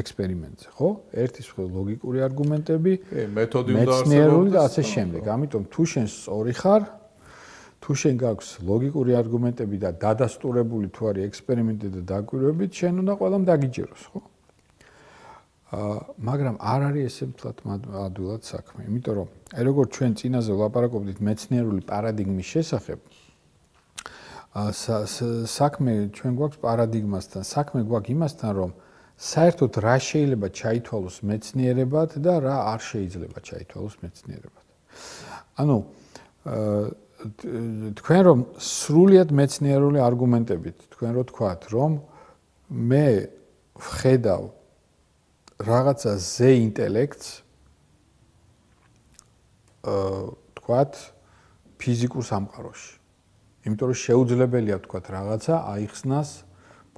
ექსპერიმენტზე, ხო? ერთის მხრივ ლოგიკური არგუმენტები, მეთოდი უნდა არსებობდეს, მეცნიერული და ასე შემდეგ. ამიტომ თუ შენ სწორი ხარ, თუ შენ გაქვს ლოგიკური არგუმენტები და დადასტურებული თუ არის ექსპერიმენტი და დაკვირვებით, შენ უნდა ყველამ დაგიჯეროს, ხო? აა, მაგრამ არ არის ესე მთლად ადვილად საქმე, იმიტომ რომ აი როგორც ჩვენ წინაზე ვლაპარაკობდით მეცნიერული პარადიგმის შესახებ, აა საქმე ჩვენ გვაქვს პარადიგმასთან, საქმე გვაქვს იმასთან, რომ საერთოდ რა შეიძლება ჩაითვალოს მეცნიერებად და რა არ შეიძლება ჩაითვალოს მეცნიერებად. ანუ თქვენ რომ სრულიად მეცნიერული არგუმენტებით თქვენ რო თქვათ, რომ მე ვხედავ რაღაცა ზე ინტელექტს აა თქვათ ფიზიკურ სამყაროში. იმიტომ რომ შეუძლებელია თქვათ რაღაცა აიხსნას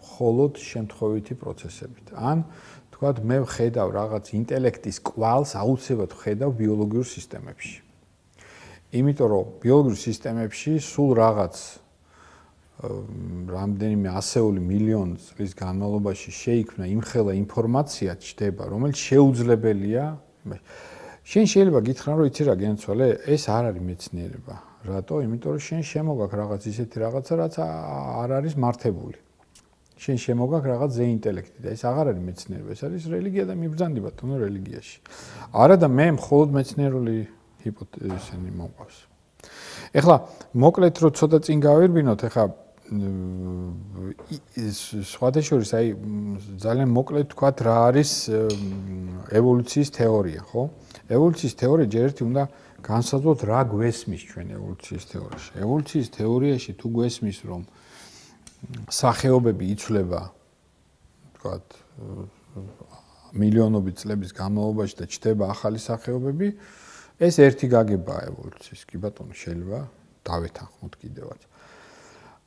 მხოლოდ შემთხვევითი პროცესებით. ან თქვათ მე ვხედავ რაღაც ინტელექტის კვალს აუცილებლად ვხედავ ბიოლოგიურ სისტემებში. იმიტომ რომ ბიოლოგიურ სისტემებში სულ რაღაც რამდენიმე ასეული მილიონი წლის განმავლობაში შეიქმნა იმხელა ინფორმაცია ჩდება, რომელიც შეუძლებელია. შენ შეიძლება გითხრა, რომ იცი რა გენცვალე, ეს არ არის მეცნიერება. რატო? იმიტომ რომ შენ შემოგაქვს რაღაც ისეთი რაღაცა, რაც არ არის მართებული. შენ შემოგაქვს რაღაც ზე ინტელექტი და ეს აღარ არის მეცნიერება, ეს არის რელიგია და მიბრძანდი ბატონო რელიგიაში. არა და მე მხოლოდ მეცნიერული ჰიპოთეზები მომყავს. ეხლა მოკლედ რო ცოტა წინ გავირბინოთ, ეხლა სხვადასხვა აი ძალიან მოკლედ თქვათ რა არის ევოლუციის თეორია, ხო? ევოლუციის თეორია ჯერ ერთი უნდა განსაზღვროთ რა გვესმის ჩვენ ევოლუციის თეორიაში. ევოლუციის თეორიაში თუ გვესმის რომ სახეობები იცვლება თქვათ მილიონობით წლების განმავლობაში და ჩნდება ახალი სახეობები, ეს ერთი გაგებაა ევოლუციის. კი ბატონო, შეიძლება დავეთანხმოთ კიდევაც.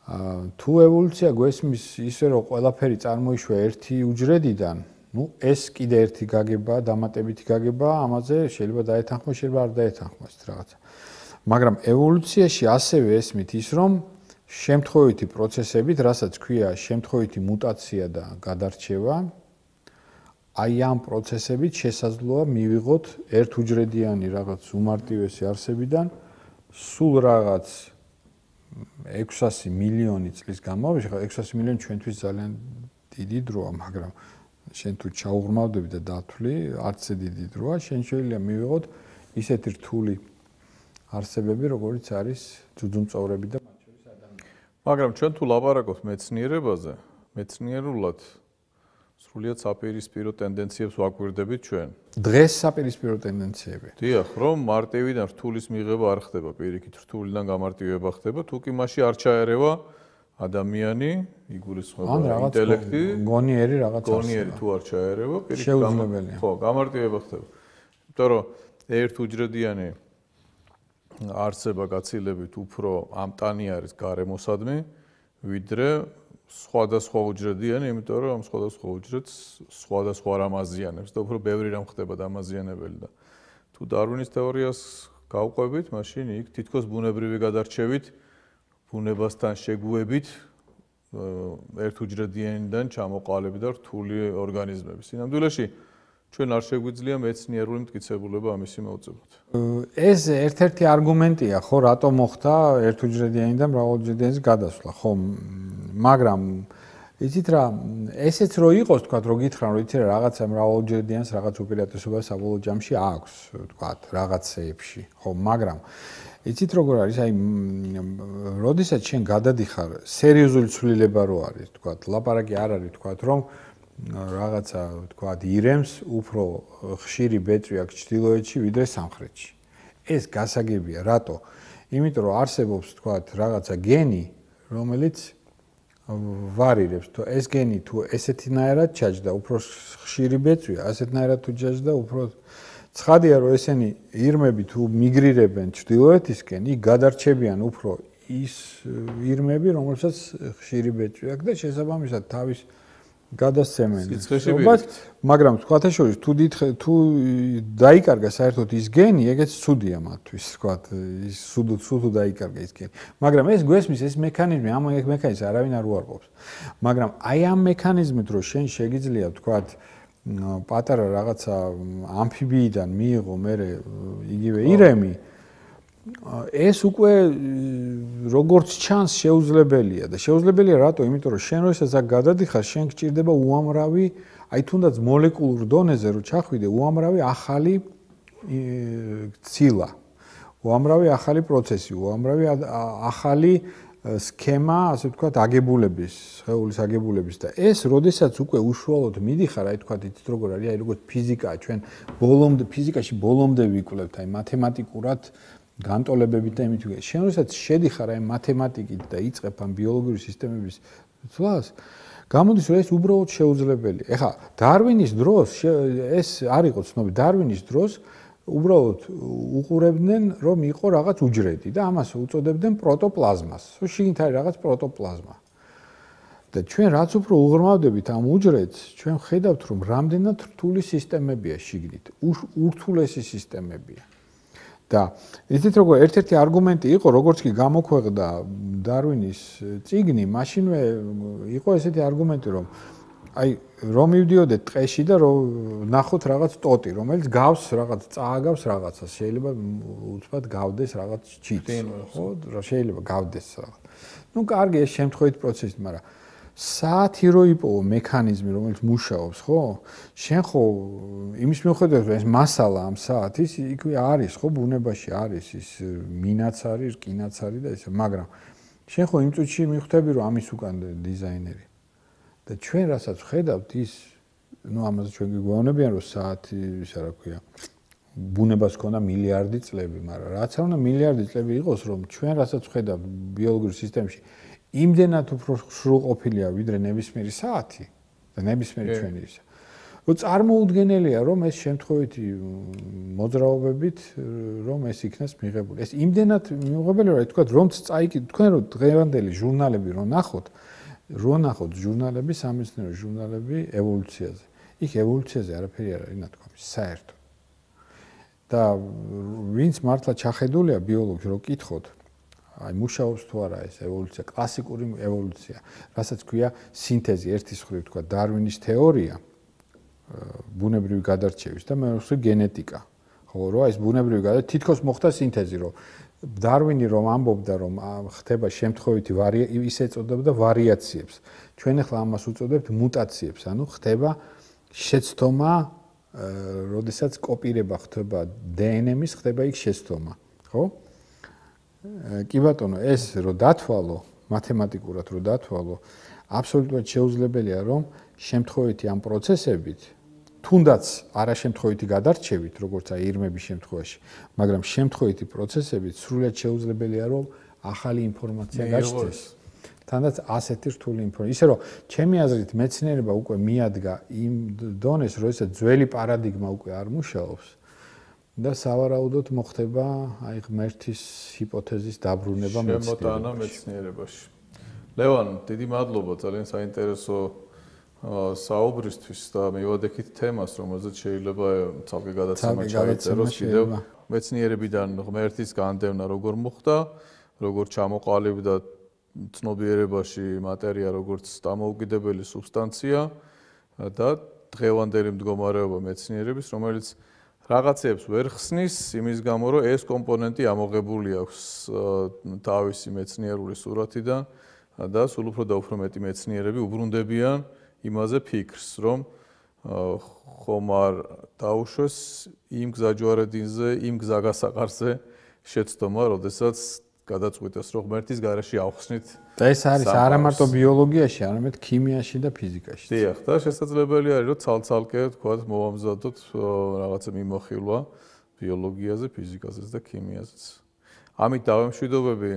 თუ ევოლუცია გვესმის ისე რომ ყველაფერი წარმოიშვა ერთი უჯრედიდან, ну ეს კიდე ერთი გაგებაა, დამატებითი გაგებაა, ამაზე შეიძლება დაეთანხმო, შეიძლება არ დაეთანხმო ეს რაღაცა. მაგრამ ევოლუციაში ასევე ესმით ის რომ შემთხვევითი პროცესებით, რასაც ქვია შემთხვევითი მუტაცია და გადარჩევა, აი ამ პროცესებით შესაძლოა მივიღოთ ერთუჯრედიანი რაღაც უმარტივესი არსებიდან სულ რაღაც ექვსასი მილიონი წლის განმავლობაში, ხა ექვსასი მილიონი ჩვენთვის ძალიან დიდი დროა, მაგრამ შენ თუ ჩაუღრმავდები და დათვლი, არც ესე დიდი დროა, შენ შეიძლება მივიღოთ ისეთი რთული არსებები, როგორიც არის ძუძუმწოვრები და მათ შორის ადამიანები. მაგრამ ჩვენ თუ ლაპარაკობთ მეცნიერებაზე, მეცნიერულად სრულიად საპირისპირო ტენდენციებს ვაკვირდებით ჩვენ. დღეს საპირისპირო ტენდენციები. დიახ, რომ მარტივიდან რთულის მიღება არ ხდება, პირიქით რთულიდან გამარტივება ხდება, თუ კი მასში არ ჩაერევა ადამიანი, იგულისხმება ინტელექტი, გონიერი რაღაც არსება. გონიერი თუ არ ჩაერევა, პირიქით შეუძლებელია. ხო, გამარტივება ხდება. იმიტომ რომ ერთუჯრედიანი არსება გაცილებით უფრო ამტანი არის გარემოსადმი, ვიდრე სხვადასხვა უჯრედიანი, იმიტომ რომ ამ სხვადასხვა უჯრედს სხვადასხვა რამ აზიანებს და უფრო ბევრი რამ ხდება დამაზიანებელი და თუ დარვინის თეორიას გავყვებით, მაშინ იქ თითქოს ბუნებრივი გადარჩევით, ბუნებასთან შეგუებით ერთუჯრედიანიდან ჩამოყალიბდა და რთული ორგანიზმები. სინამდვილეში ჩვენ არ შეგვიძლია მეცნიერული მტკიცებულება ამისი მოვწებოთ. ეს ერთ-ერთი არგუმენტია, ხო, რატომ მოხდა ერთუჯრედიანიდან მრავალუჯრედიანის გადასვლა, ხო, მაგრამ იცით რა, ესეც რო იყოს, თქვათ, რო გითხრან, რომ იცი რა, რაღაცა მრავალუჯრედიანს რაღაც უპირატესობა საბოლოო ჯამში აქვს, თქვათ, რაღაცეებში, ხო, მაგრამ იცით როგორ არის, აი, როდესაც შენ გადადიხარ, სერიოზული ცვლილება რო არის, თქვათ, ლაპარაკი არ არის, თქვათ, რომ რაღაცა თქვათ ირემს უფრო ხშირი ბეწვი აქვს ჩრდილოეთში ვიდრე სამხრეთში. ეს გასაგებია, რატო? იმიტომ რომ არსებობს თქვათ რაღაცა გენი, რომელიც ვარირებს, თუ ეს გენი თუ ესეთნაირად ჩაჯდა, უფრო ხშირი ბეწვია, ასეთნაირად თუ ჩაჯდა, უფრო ცხადია რომ ესენი ირმები თუ მიგრირებენ ჩრდილოეთისკენ, იქ გადარჩებიან უფრო ის ირმები, რომელსაც ხშირი ბეჭვი აქვს და შესაბამისად თავის გადასცემენ. მაგრამ თქვათ შორის თუ თუ დაიკარგა საერთოდ ის გენი, ეგეც ცუდია მათთვის, თქვათ, ის სუდუ სუდუ დაიკარგა ის გენი. მაგრამ ეს გვესმის ეს მექანიზმი, ამ მექანიზმს არავინ არ უარყოფს. მაგრამ აი ამ მექანიზმით რო შენ შეგიძლია თქვათ პატარა რაღაცა ამფიბიიდან მიიღო მე იგივე ირემი ეს უკვე როგორც ჩანს შეუძლებელია და შეუძლებელია რატო? იმიტომ რომ შენ როდესაც აქ გადადიხარ, შენ გჭირდება უამრავი, აი თუნდაც მოლეკულურ დონეზე რო ჩახვიდე, უამრავი ახალი ცილა, უამრავი ახალი პროცესი, უამრავი ახალი სქემა, ასე ვთქვათ, აგებულების, სხეულის აგებულების და ეს როდესაც უკვე უშუალოდ მიდიხარ, აი თქვათ, იცით როგორ არის, აი როგორც ფიზიკაა, ჩვენ ბოლომდე ფიზიკაში ბოლომდე ვიკვლევთ, აი მათემატიკურად განტოლებებით და იმით ვიგე. შენ როდესაც შედიხარ აი მათემატიკით და იწყებ ამ ბიოლოგიური სისტემების ცვლას, გამოდის რომ ეს უბრალოდ შეუძლებელია. ეხლა დარვინის დროს ეს არ იყო ცნობი, დარვინის დროს უბრალოდ უყურებდნენ რომ იყო რაღაც უჯრედი და ამას უწოდებდნენ პროტოპლაზმას. შიგნით არის რაღაც პროტოპლაზმა. და ჩვენ რაც უფრო უღრმავდებით ამ უჯრედს, ჩვენ ხედავთ რომ რამდენად რთული სისტემებია შიგნით, ურთულესი სისტემებია. და იცით როგორ ერთ-ერთი არგუმენტი იყო, როგორც კი გამოქვეყნდა დარვინის წიგნი, მაშინვე იყო ესეთი არგუმენტი, რომ აი რომ მივდიოდეთ ტყეში და რომ ნახოთ რაღაც ტოტი, რომელიც გავს რაღაც წააგავს რაღაცას, შეიძლება უცბად გავდეს რაღაც ჩიტს, ხო, შეიძლება გავდეს რაღაც. ნუ კარგი ეს შემთხვევით პროცესი, მაგრამ საათი რო იპოვო მექანიზმი, რომელიც მუშაობს, ხო? შენ ხო იმის მიუხედავად, რომ ეს მასალა ამ საათის იქვე არის, ხო, ბუნებაში არის ის მინაც არის, რკინაც არის და ესე, მაგრამ შენ ხო იმ წუთში მიხვდები, რომ ამის უკან დიზაინერი. და ჩვენ რასაც ხედავთ ის, ну ამაზე ჩვენ გიგვეუბნებიან, რომ საათი, ისა რა ქვია, ბუნებას ქონდა მილიარდი წლები, მაგრამ რაც არ უნდა მილიარდი წლები იყოს, რომ ჩვენ რასაც ხედავთ ბიოლოგიურ სისტემაში იმდენად უფრო სრულყოფილია ვიდრე ნებისმიერი საათი და ნებისმიერი ჩვენი ისა. რომ წარმოუდგენელია რომ ეს შემთხვევითი მოძრაობებით რომ ეს იქნას მიღებული. ეს იმდენად მიუღებელი რომ თქვა რომც წაიკი თქვენ რომ დღევანდელი ჟურნალები რომ ნახოთ, რო ნახოთ ჟურნალები, სამეცნიერო ჟურნალები ევოლუციაზე. იქ ევოლუციაზე არაფერი არ არის ნათქვამი, საერთოდ. და ვინც მართლა ჩახედულია ბიოლოგში რო კითხოთ აი მუშაობს თუ არა ეს ევოლუცია, კლასიკური ევოლუცია, რასაც ქვია სინთეზი, ერთის მხრივ თქვა დარვინის თეორია ბუნებრივი გადარჩევის და მეორე მხრივ გენეტიკა. ხო, რა ეს ბუნებრივი გადარჩევა თითქოს მოხდა სინთეზი, რომ დარვინი რომ ამბობდა, რომ ხდება შემთხვევითი ისე ეწოდებოდა ვარიაციებს. ჩვენ ახლა ამას უწოდებთ მუტაციებს, ანუ ხდება შეცდომა, როდესაც კოპირება ხდება დე ენ ემის, ხდება იქ შეცდომა, ხო? კი ბატონო, ეს რო დათვალო, მათემატიკურად რო დათვალო, აბსოლუტურად შეუძლებელია, რომ შემთხვევითი ამ პროცესებით, თუნდაც არაშემთხვევითი გადარჩევით, როგორც აი ირმების შემთხვევაში, მაგრამ შემთხვევითი პროცესებით სრულად შეუძლებელია, რომ ახალი ინფორმაცია გაჩნდეს. თანდაც ასეთი რთული ინფორმაცია. ისე რომ ჩემი აზრით მეცნიერება უკვე მიადგა იმ დონეს, როდესაც ძველი პარადიგმა უკვე არ მუშაობს. და სავარაუდოდ მოხდება აი ღმერთის ჰიპოთეზის დაბრუნება შემოტანა მეცნიერებაში. ლევან, დიდი მადლობა ძალიან საინტერესო საუბრისთვის და მივადექით თემას, რომელზეც შეიძლება ცალკე გადაცემა ჩაიწეროს კიდევ მეცნიერებიდან ღმერთის განდევნა როგორ მოხდა, როგორ ჩამოყალიბდა ცნობიერებაში მატერია როგორც დამოუკიდებელი სუბსტანცია და დღევანდელი მდგომარეობა მეცნიერების, რომელიც რაღაცებს ვერ ხსნის იმის გამო, რომ ეს კომპონენტი ამოღებული აქვს თავისი მეცნიერული სურათიდან და სულ უფრო და უფრო მეტი მეცნიერები უბრუნდებიან იმაზე ფიქრს, რომ ხომ არ დაუშვეს იმ გზაჯვარედინზე, იმ გზაგასაყარზე შეცდომა, როდესაც გადაწყვიტეს, რომ ღმერთის გარეშე ავხსნით. და ეს არის არა მარტო ბიოლოგიაში, არამედ ქიმიაში და ფიზიკაში. დიახ, და შესაძლებელი არის, რომ ცალ-ცალკე თქვათ მოვამზადოთ რაღაცა მიმოხილვა ბიოლოგიაზე, ფიზიკაზეც და ქიმიაზეც. ამით დავემშვიდობები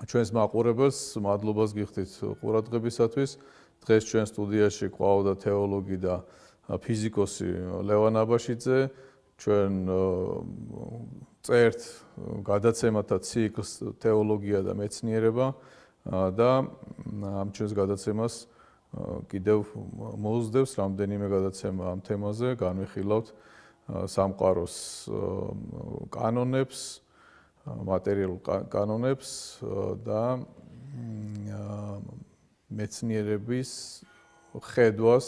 ჩვენს მაყურებელს, მადლობას გიხდით ყურადღებისათვის. დღეს ჩვენ სტუდიაში ყავდა თეოლოგი და ფიზიკოსი ლევან აბაშიძე ჩვენ წერთ გადაცემათა ციკლს თეოლოგია და მეცნიერება და ამ ჩვენს გადაცემას კიდევ მოუძდევს რამდენიმე გადაცემა ამ თემაზე, განვიხილავთ სამყაროს კანონებს, მატერიალურ კანონებს და მეცნიერების ხედვას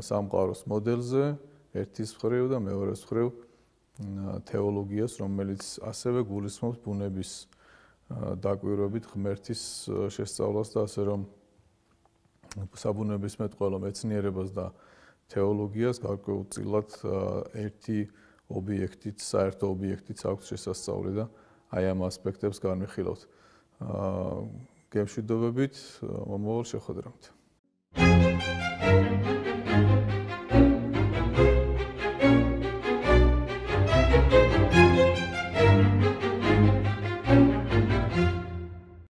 სამყაროს მოდელზე ერთის მხრივ და მეორეს მხრივ თეოლოგიას, რომელიც ასევე გულისხმობს ბუნების დაკვირვებით ღმერთის შესწავლას და ასე რომ საბუნებისმეტყველო მეცნიერებას და თეოლოგიას გარკვეულწილად ერთი ობიექტით, საერთო ობიექტით აქვს შესასწავლი და აი ამ ასპექტებს განვიხილავთ. გემშვიდობებით მომავალ შეხვედრამდე.